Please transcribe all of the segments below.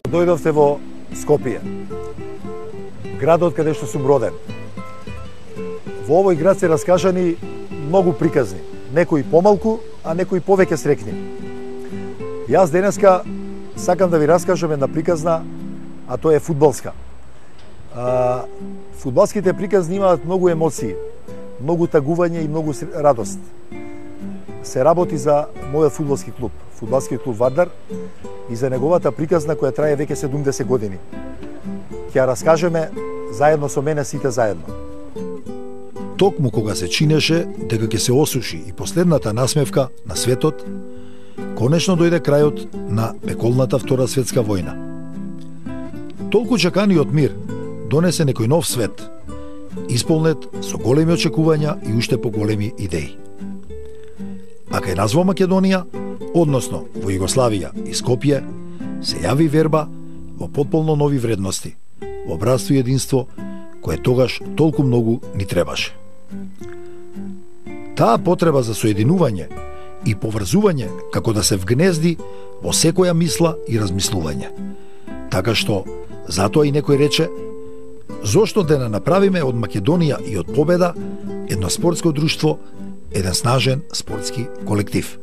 Дојдовте во Скопје, градот каде што сум роден. Во овој град се раскажани многу приказни, некои помалку, а некои повеќе срекни. Јас денеска сакам да ви раскажам една приказна, а тоа е фудбалска. Фудбалските приказни имаат многу емоции, многу тагување и многу радост. Се работи за мојот фудбалски клуб, фудбалски клуб Вардар, и за неговата приказна која трае веќе 70 години. Ќе ја раскажеме заедно со мене, сите заедно. Токму кога се чинеше дека ќе се осуши и последната насмевка на светот, конечно дојде крајот на пеколната Втора светска војна. Толку чеканиот мир донесе некој нов свет, исполнет со големи очекувања и уште поголеми идеи. А кај нас во Македонија, односно во Југославија и Скопје, се јави верба во потполно нови вредности, во братство и единство кое тогаш толку многу ни требаше. Таа потреба за соединување и поврзување како да се вгнезди во секоја мисла и размислување. Така што, затоа и некој рече, зошто да не направиме од Македонија и од победа едно спортско друштво, еден снажен спортски колектив.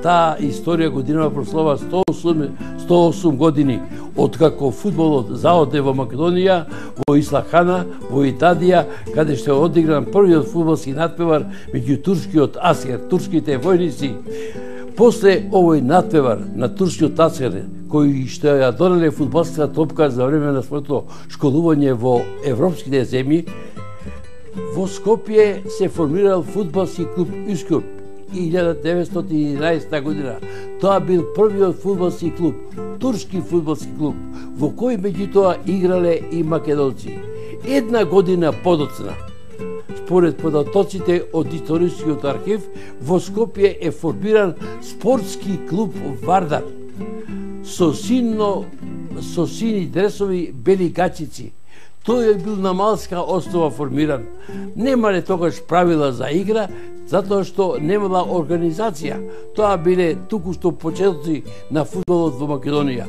Таа историја годинава прослава 108 години откако фудбалот заоде во Македонија, во Ислахана, во Итадија, каде што е одигран првиот фудбалски надпревар меѓу турскиот аскер, турските војници. После овој надпревар на турскиот аскер, кој што ја донеле фудбалската топка за време на своето школување во европските земји, во Скопје се формирал фудбалски клуб Üsküp 1911 година. Тоа бил првиот фудбалски клуб, турски фудбалски клуб, во кој меѓутоа играле и македонци. Една година подоцна, според податоците од историскиот архив, во Скопје е формиран спортски клуб Вардар со сини дресови бели гачици. Тој е бил на малска основа формиран. Немале тогаш правила за игра, затоа што немала организација. Тоа биле туку што почетоци на фудбалот во Македонија.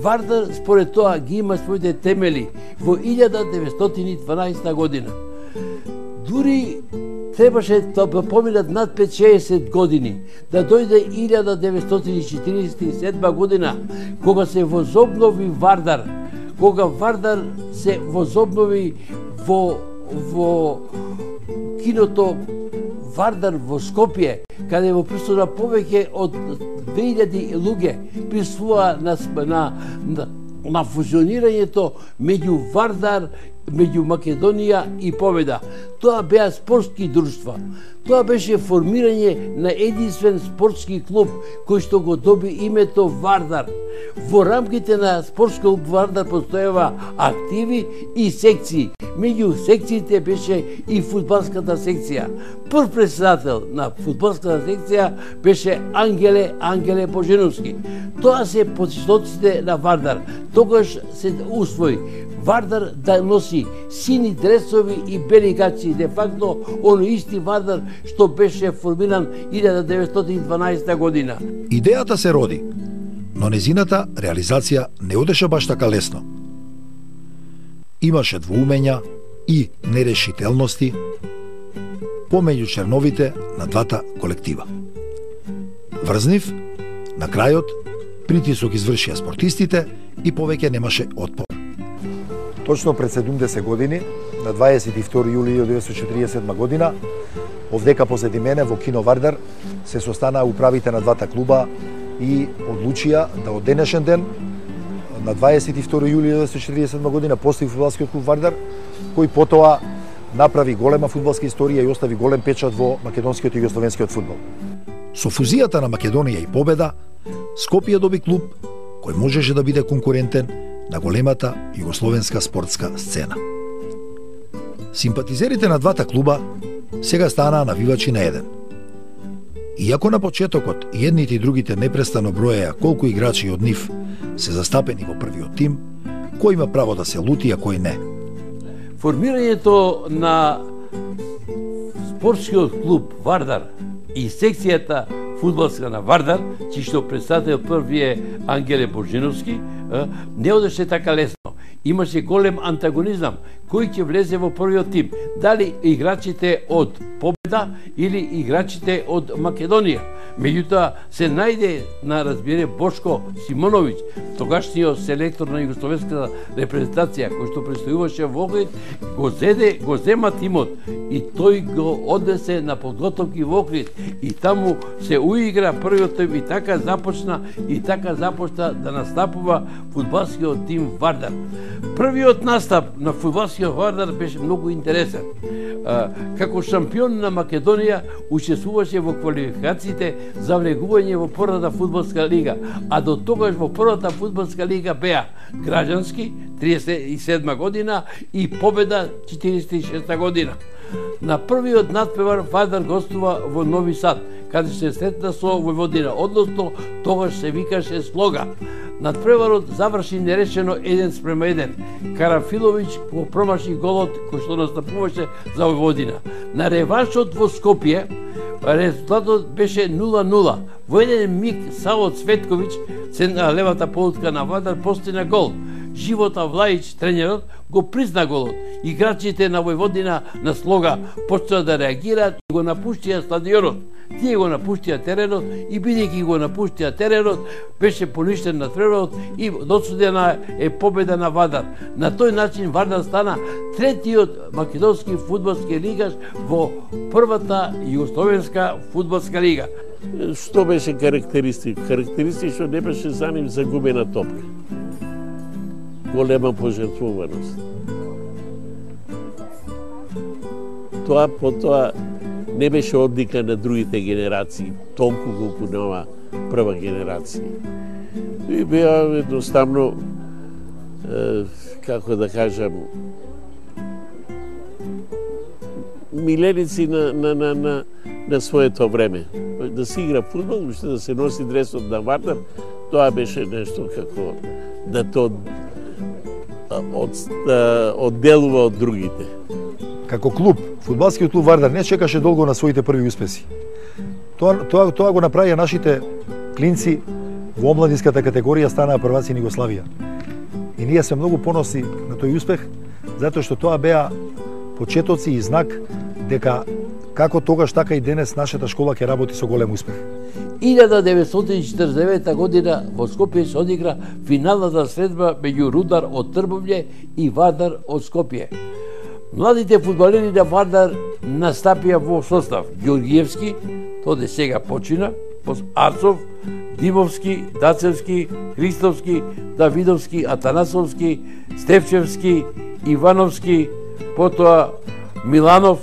Вардар според тоа ги има своите темели во 1912 година. Дури требаше да поминат над 5-60 години, да дојде 1947 година, кога се возобнови Вардар, кога Вардар се возобнови во киното Вардар во Скопје, каде во присуства повеќе од 2000 луѓе присуствува на фузионирањето меѓу Вардар, меѓу Македонија и Победа. Тоа беа спортски друштва. Тоа беше формирање на единствен спортски клуб кој што го доби името Вардар. Во рамките на спортски клуб Вардар постојава активи и секции. Меѓу секциите беше и фудбалската секција. Прв председател на фудбалската секција беше Ангеле Боженовски. Тоа се почетоците на Вардар. Тогаш се усвои Вардар да носи сини дресови и бели гачи, де факто оној исти Вардар што беше формиран 1912 година. Идејата се роди, но незината реализација не одеше баш така лесно. Имаше двоумења и нерешителности помеѓу черновите на двата колектива. Врзнив, на крајот, притисок извршија спортистите и повеќе немаше отпор. Точно пред 70 години, на 22 јули 1947 година, овдека позади мене во Кино Вардар се состанаа управите на двата клуба и одлучија да од денешен ден на 22 јули 1947 година постои фудбалскиот клуб Вардар, кој потоа направи голема фудбалска историја и остави голем печат во македонскиот и југословенскиот фудбал. Со фузијата на Македонија и Победа, Скопје доби клуб кој можеше да биде конкурентен на големата југословенска спортска сцена. Симпатизерите на двата клуба сега станаа навивачи на еден. Иако на почетокот и едните и другите непрестано броеа колку играчи од нив се застапени во првиот тим, кој има право да се лути, а кој не. Формирањето на спортскиот клуб Вардар и секцијата фудбалска на Вардар, чиј што председател први е Ангеле Божиновски, не одеше така лесно. Имаше голем антагонизам кој ќе влезе во првиот тим, дали играчите од Победа или играчите од Македонија. Меѓутоа се најде на разбире Бошко Симоновиќ, тогашниот селектор на југословенската репрезентација, кој што престојуваше во Охрид, го зема тимот и тој го однесе на подготовки во Охрид и таму се уигра првиот тим и така започна да настапува фудбалскиот тим Вардар. Првиот настап на фудбалскиот Вардар беше многу интересен. Како шампион на Македонија учествуваше во квалификациите за влегување во првата фудбалска лига, а до тогаш во првата фудбалска лига беа Граѓански 37 година и Победа 46 година. На првиот надпревар Вардар гостува во Нови Сад, каде се сретна со Војводина, односно тогаш се викаше Слога. Надпреварот заврши нерешено 1:1. Карафиловиќ го промаши голот кој што настапуваше за Војводина. На реваншот во Скопје резултатот беше 0:0. Во еден миг Саво Цветковиќ, на левата полутка на Вардар, постигна гол. Живота Влајич, тренерот, го призна голот. Играчите на Војводина на Слога почнаа да реагираат и го напуштија стадионот. Тие го напуштија теренот и бидејќи го напуштија теренот, беше поништен на теренот и досудена е победа на Вардар. На тој начин Вардар стана третиот македонски фудбалски лигаш во првата југословенска фудбалска лига. Што беше карактеристик? Карактеристично не беше за нив загубена топка. Голема пожртвуваност. Тоа потоа не беше одлика на другите генерации, толку колку нова прва генерација. И беа едноставно, како да кажам, миленици на своето време. Да се игра фудбал, уште да се носи дресот на Вардар, тоа беше нешто како да то одделува од другите. Како клуб, фудбалскиот клуб Вардар не чекаше долго на своите први успеси. Тоа го направија нашите клинци во омладинската категорија, станаа прваци на Југославија. И ние сме многу поносни на тој успех, затоа што тоа беа почетоци и знак дека како тогаш, така и денес нашата школа ќе работи со голем успех. 1949 година во Скопје се одигра финалната средба меѓу Рудар од Трбовље и Вардар од Скопје. Младите фудбалери на Вардар настапија во состав Ѓоргиевски, тој сега почина, Арцов, Димовски, Дацевски, Христовски, Давидовски, Атанасовски, Стефчевски, Ивановски, потоа Миланов,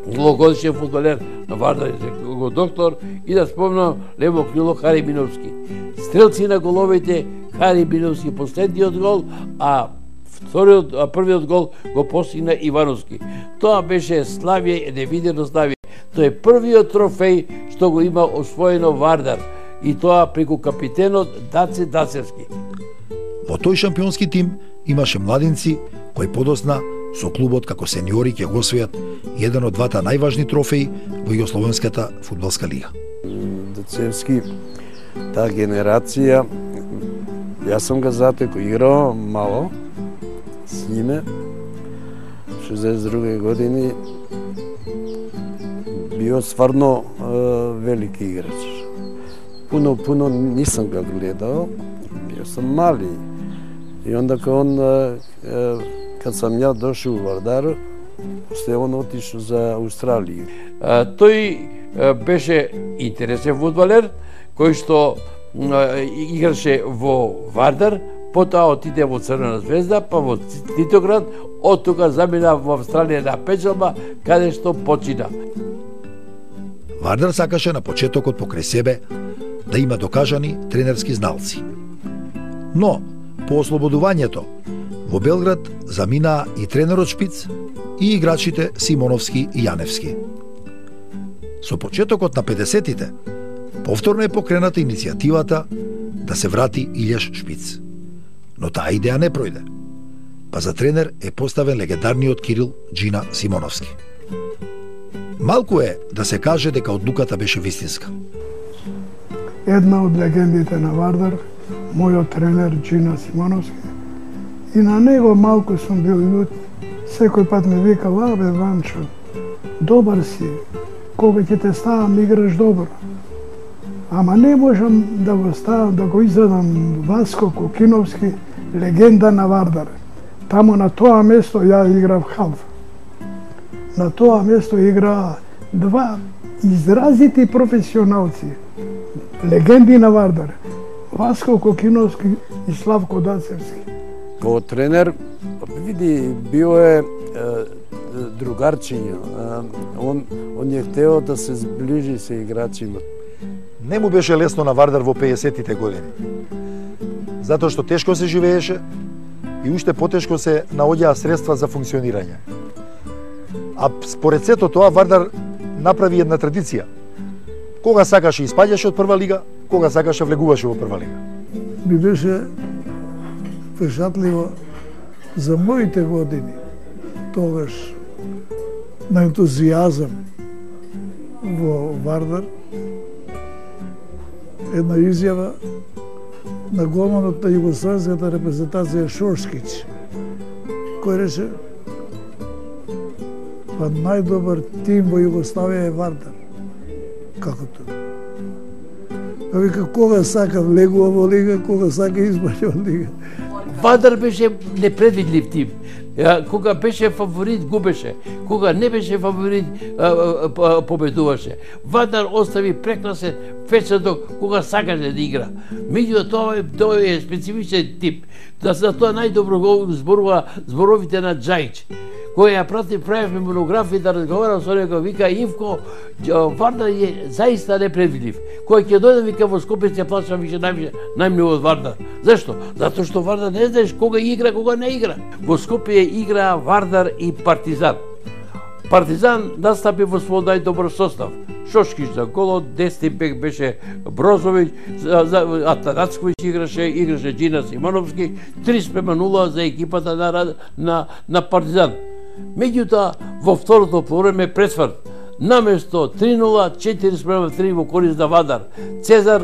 многогодишен фудбалер на Вардар, го доктор, и да спомнам лево крило Харибиновски. Стрелци на головите Харибиновски последниот гол, а првиот гол го постигна Ивановски. Тоа беше славие, невидено славие. Тоа е првиот трофеј што го има освоено Вардар, и тоа преку капитенот Даце Дацевски. Во тој шампионски тим имаше младинци кои подосна со клубот како сениори ќе го освојат еден од двата најважни трофеи во Југословенската фудбалска лига. Дацевски, таа генерација, јас сум га затеко, игрao мало с име, 62 години, био стварно велики играч. Puno nisam ga gledao, bio sam mali. I onda kad sam ja došao u Vardaru, после он отишол за Австралија. Тој беше интересен фудбалер кој што играше во Вардар, потоа отиде во Црвена звезда, па во Титоград, од тука замина во Австралија на печалба, каде што почина. Вардар сакаше на почетокот покрај себе да има докажани тренерски зналци. Но, по ослободувањето, во Белград заминаа и тренерот Шпиц и играчите Симоновски и Јаневски. Со почетокот на 50-тите, повторно е покрената иницијативата да се врати Илјаш Шпиц. Но таа идеја не пројде, па за тренер е поставен легендарниот Кирил Джина Симоновски. Малку е да се каже дека одлуката беше вистинска. Една од легендите на Вардар, мојот тренер Джина Симоновски, и на него малку сум бил љут. Секој пат ме викал: "Абе, Ванчо, добар си, кога ќе те ставам играш добро." Ама не можам да го ставам, да го изедам Васко Кокиновски, легенда на Вардар. Таму на тоа место ја играв халф. На тоа место играа два изразити професионалци, легенди на Вардар, Васко Кокиновски и Славко Дацевски. Као тренер, види, био е другарчиња. Он е хтео да се зближи со играчима. Не му беше лесно на Вардар во 50-тите години. Затоа што тешко се живееше и уште потешко се наоѓаа средства за функционирање. А според сето тоа Вардар направи една традиција. Кога сакаше испаѓаше од прва лига, кога сакаше влегуваше во прва лига. Би беше впечатливо за моите години, тогаш на ентузијазам во Вардар, една изјава на голманот на југославската репрезентација Шошкич, кој рече: "Па најдобар тим во Југославија е Вардар." Како тоа? Па вика, кога сака влегува во лига, кога сака избаќа од лига. Вардар беше непредвидлив тим. Кога беше фаворит, губеше. Кога не беше фаворит, победуваше. Вардар остави прекрасен впечаток кога сакаше да игра. Меѓутоа тоа е специфичен тип. За тоа најдобро го зборува зборовите на Џајич, кој ја правевме монографија да разговарам со него, вика: "Ивко, Вардар е заиста непредвидлив. Кој ќе дојде, вика, во Скопје ќе плаќам више најмногу од Вардар." Зашто? Затоа што Вардар не знаеш кога игра, кога не игра. Во Скопје играа Вардар и Партизан. Партизан настапи во свој најдобар состав. Шошкич за голот, десни бек беше Брозовиќ, Атанацковиќ играше Джина Симоновски, 3:0 за екипата на Партизан. Меѓутоа, во второто повреме пресврт, наместо 3:0, 4:3 во корист на Вардар. Цезар,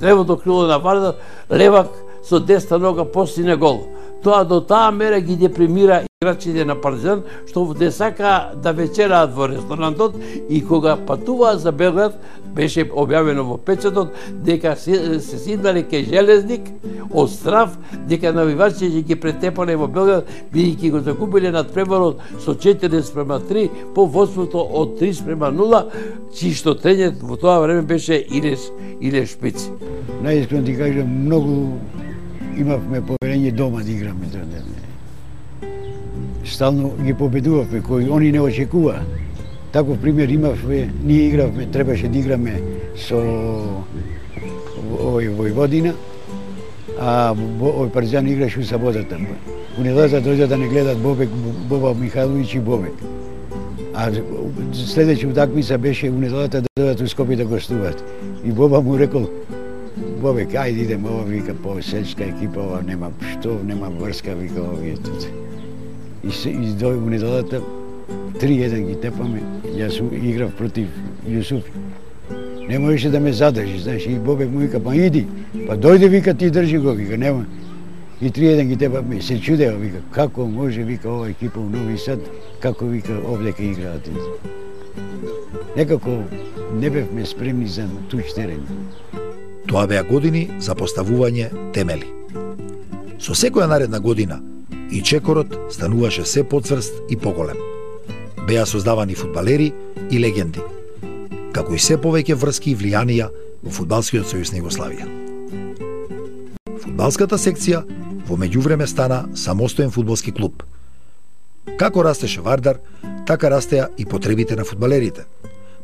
левото крило на Вардар, левак со десна нога постигна гол. Тоа до таа мера ги депримира играчите на Партизан, што не сака да вечераат во ресторантот, и кога патуваа за Белград, беше објавено во печатот дека се сиднале кај Железник од страв дека навивачите ќе ги претепале во Белград, бидејќи го закупиле надпреварот со 4:3 по водството од 3:0, чи што тренер во тоа време беше Илјаш Шпиц. Најискрено ти кажам, многу имавме поверење дома да играме. Стално ги победувавме, кои они не очекува. Таков пример имавме, ние игравме, требаше да играме со овој Војводина, а овој Партизан играше у саботата. У неделата дојде да не гледат Боба Михайловиќ и Бобек. А следеќа утакмица беше у неделата да дојдат у Скопје да гостуваат. И Боба му рекол: "Бобек, ајде идеме, ова вика по сельска екипа, ова нема што, нема врска, вика овие тут." И дој у неделата 3:1 ги тепаме, јас играв против Јусуф. Не можеше да ме задржи, знаеш, и Бобек му вика: "Па иди, па дојде, вика, ти држи го", вика, нема. И 3:1 ги тепаме, се чудеа, вика, како може, вика, ова екипа у Нови Сад, како, вика, овде ке играат. Некако не бевме спремни за туѓ терен. Тоа беа години за поставување темели. Со секоја наредна година и чекорот стануваше се поцврст и поголем. беа создавани фудбалери и легенди, како и се повеќе врски и влијанија во Фудбалскиот сојуз на Југославија. Фудбалската секција во меѓувреме стана самостоен фудбалски клуб. Како растеше Вардар, така растеа и потребите на фудбалерите.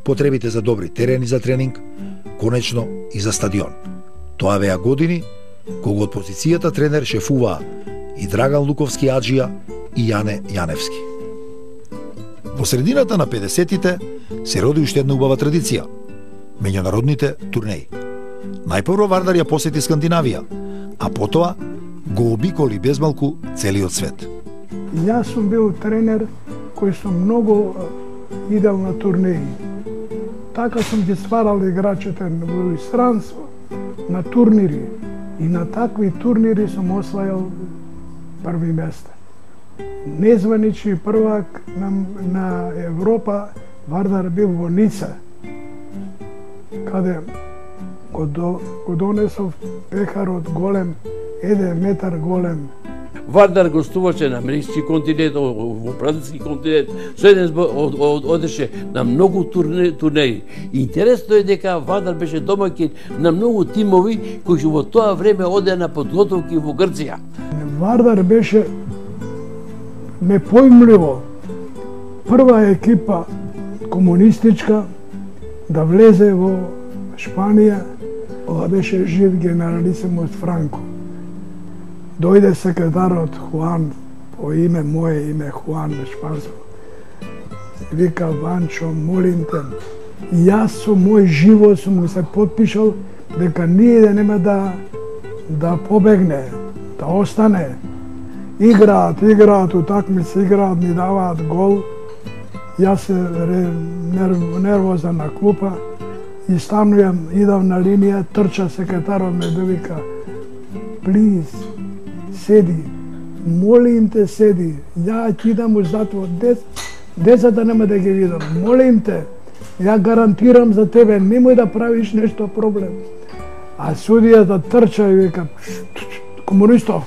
Потребите за добри терени за тренинг, конечно и за стадион. Тоа беа години кога од позицијата тренер шефуваа и Драган Луковски Аджија и Јане Јаневски. Во средината на 50-тите се роди уште една убава традиција – меѓународните турнеи. Најпрво Вардар ја посети Скандинавија, а потоа го обиколи безмалку целиот свет. Јас сум бил тренер кој сум многу идел на турнеи. Така сум ги стварал играчите во инстранство, на турнири. И на такви турнири сум освајал први места. Незванични првак на Европа Вардар бил во Ница, каде го донесов пехарот голем, 1 метар голем. Вардар гостуваше на Америкски континент, во Бразилски континент, со еден одеше на многу турнеи. Интересно е дека Вардар беше домаќин на многу тимови кои во тоа време оде на подготовки во Грција. Вардар беше непоимливо прва екипа комунистичка да влезе во Шпанија. Ова беше жив генералисимус Франко. Дојде секретарот Хуан, по име, мое име Хуан шпанско. Вика, Ванчо, молим те, јас со мој живот сум му се потпишал дека ние нема да побегне, да остане. Играат, утакмици играат, ни даваат гол. Јас се нервозен на клупа и станувам, идам на линија, трча секретарот ме довика, плиз, седи, молим те седи, ја ќе идам у затвор, децата нема да ги видам, молим те, ја гарантирам за тебе, немој да правиш нешто проблем. А судијата трча и вика, комунистов.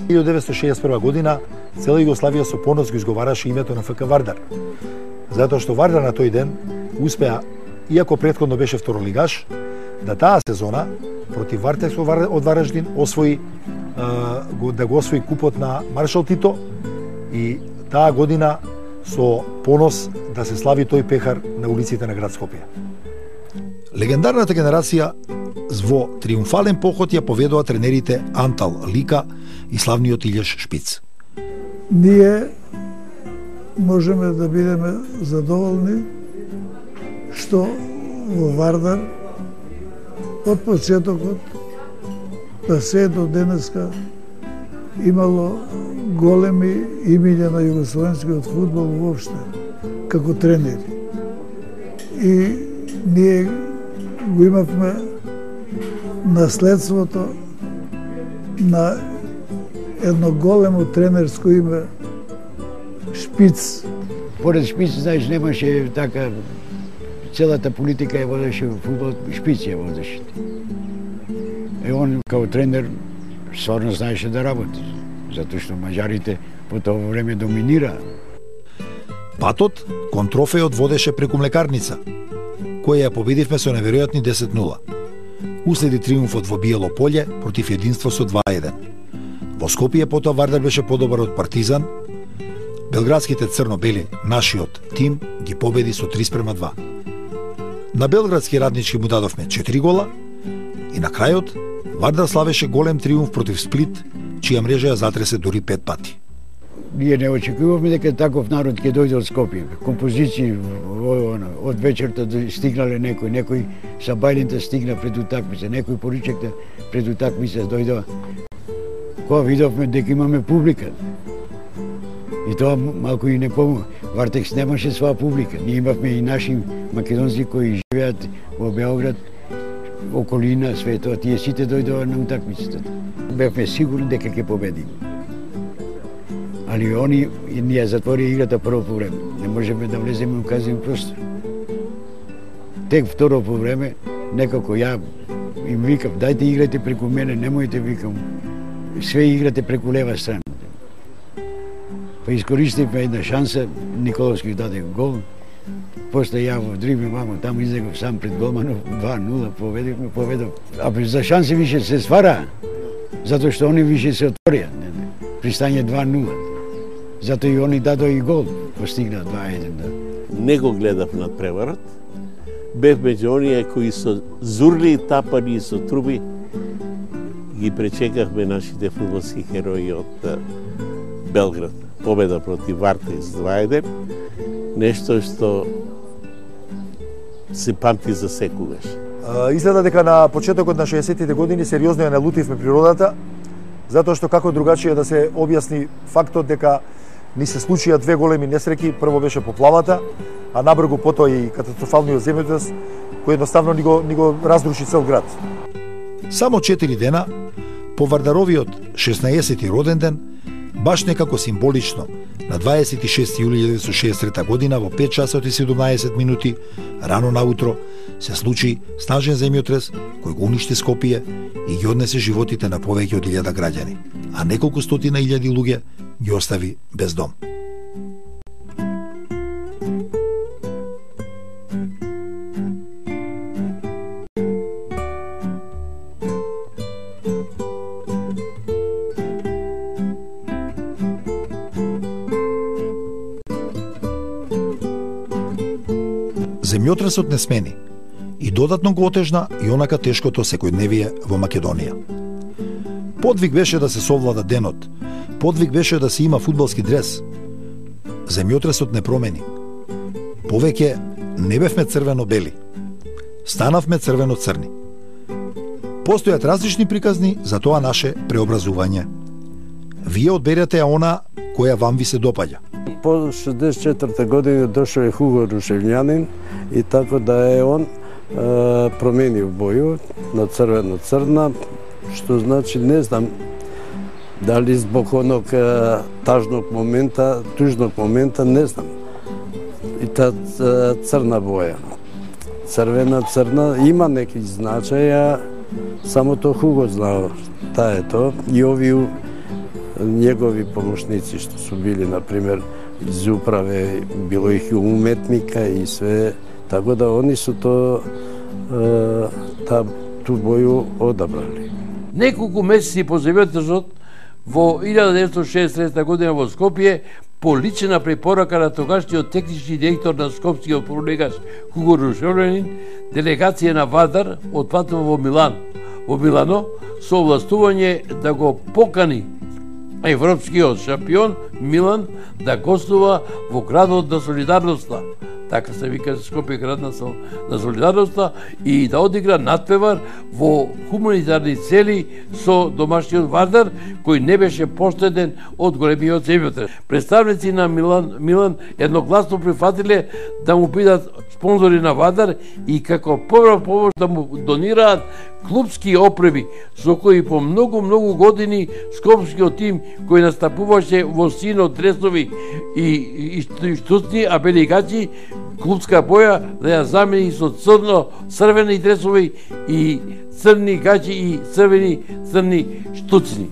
1961 година цела Југославија со понос го изговараше името на ФК Вардар, затоа што Вардар на тој ден успеа, иако претходно беше второлигаш, да таа сезона против Вартекс од Вараждин освои да го освои купот на Маршал Тито и таа година со понос да се слави тој пехар на улиците на град Скопје. Легендарната генерација во триумфален поход ја поведоа тренерите Антал Лика и славниот Илјаш Шпиц. Ние можеме да бидеме задоволни што во Вардар од почетокот да се до денеска имало големи имиња на југословенскиот фудбал воопште, како тренери. И ние го имавме наследството на едно големо тренерско име Шпиц. Поред Шпиц, знаеш, немаше така, целата политика ја водеше фудбал, Шпиц ја водеше. И он као тренер стварно знаеше да работи, затоа што маđарите по тоа време доминираа. Патот кон трофејот водеше преку млекарница, која ја победивме со неверојатни 10-0. Уследи триумфот во Биело поле против Единство со 2-1. Во Скопје потоа Вардар беше подобар од Партизан. Белградските црно-бели, нашиот тим, ги победи со 3:2. На белградски Раднички му дадовме 4 гола и на крајот Вардар славеше голем триумф против Сплит, чија мрежа ја затресе дури 5 пати. Ние не очекувавме дека таков народ ќе дојде од Скопје. Композиции од вечерта стигнале некој са бајлинта стигна пред утакмица, некој поручекта пред утакмица дојдоа. Кога видовме дека имаме публика. И тоа малку и не помогна. Вартекс немаше своја публика. Ние имавме и наши македонци кои живеат во Београд, околина, све тоа. Тие сите дојдоа на утакмицата. Бевме сигурни дека ќе победиме. Али они ние затворија играта прво по време. Не можеме да влеземе у казен простор. Тек второ по време, некако ја им викам, дајте играјте преку мене, немојте, викам, све играте преку лева страна. Па искористивме една шанса, Николовски даде гол. После ја во дрибли мамо, таму излегов сам пред голманов, 2-0 победив. А за шанси више се свара, затоа што они више се отворија. Пристање 2-0. Затоа и они дадоа и гол, постигна 2-1. Да. Не го гледав над преварот. Бев меѓу оние кои со зурли, тапани и со труби ги пречекавме нашите фудбалски херои од Белград. Победа против Вартез 2-1. Нешто што се памти за секогаш. Изгледа дека на почетокот на 60-тите години сериозно ја налутивме природата, затоа што како другачие да се објасни фактот дека ни се случија две големи несреќи. Прво беше поплавата, а набрзо потоа и катастрофалниот земјотрес кој едноставно ни го разруши цел град. Само 4 дена по Вардаровиот 16-ти роден ден, баш некако символично, на 26 јули 1963 година во 5 часот и 17 минути рано наутро се случи снажен земјотрес кој го уништи Скопје и ги однесе животите на повеќе од 1000 граѓани, а неколку стотина илјади луѓе ги остави без дом. Земјотресот не смени и додатно го отежна и онака тешкото секојдневие во Македонија. Подвиг беше да се совлада денот, подвиг беше да се има фудбалски дрес. Земјотресот не промени. Повеќе не бевме црвено-бели. Станавме црвено-црни. Постојат различни приказни за тоа наше преобразување. Вие одберете ја она која вам ви се допаѓа. По 64-та година дошол е Хуго Рушевљанин и така да е он променил бојот на црвено-црна, што значи не знам дали због оног тужног момента, не знам. И та црна боја. Црвена-црна има неки значаја, само то Хуго знao таа е то. И овие негови помошници што су били, например, из управе, било их и уметника и све, така да они су ту боју одабрали. Неколку месеци по земјотресот во 1963 година во Скопје, по лична препорака на тогашниот технички директор на Скопскиот пролегаш Хуго Рушевљанин, делегација на Вардар отпатува во Милано со овластување да го покани европскиот шампион Милан да гостува во градот на Солидарноста. Така се вика Скопје град на Солидарноста, и да одигра надпревар во хуманитарни цели со домашниот Вардар, кој не беше поштеден од големиот земјотрес. Представници на Милан едногласно прифатиле да му бидат спонзори на Вардар и како прва помош да му донираат клубски опреби, со кои по многу години скопскиот тим кој настапуваше во сино дресови и штуцни, а белигачи клубска боја да ја замени со црвени дресови и црни гачи и црни штуцни.